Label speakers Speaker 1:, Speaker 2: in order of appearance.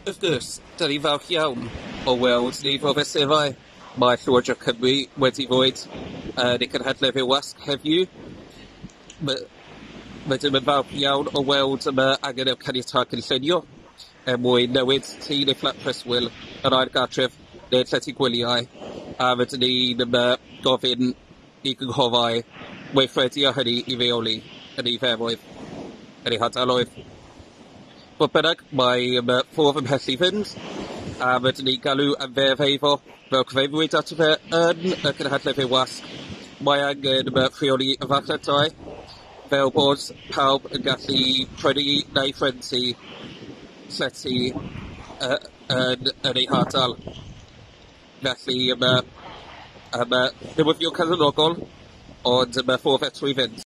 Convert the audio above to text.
Speaker 1: Wrth gwrs, 'da ni'n falch iawn o weld nifer o fesurau mae Llywodraeth Cymru wedi rhoid yn ei cynhadledd i'r wasg heddiw. Rydym yn falch iawn o weld yma angen y caniatâd cynllunio er mwyn newid tŷ neu fflat preswyl yn ail gartref neu'n llety gwyliau, a rydyn ni'n gofyn i gynghorau weithredu ar hynny i reoli y niferoedd yn eu hardaloedd. Fodd bynnag, mae ffordd ymhell i fynd, a rydyn ni'n galw am ddeddf eiddo fel cyfeiriwyd ato fe yn y cynhadledd i'r wasg. Mae angen rheoli y farchnad dai fel bod pawb yn gallu prynu neu rhentu llety yn eu hardal. Felly, newyddion calonogol, ond mae ffordd eto i fynd.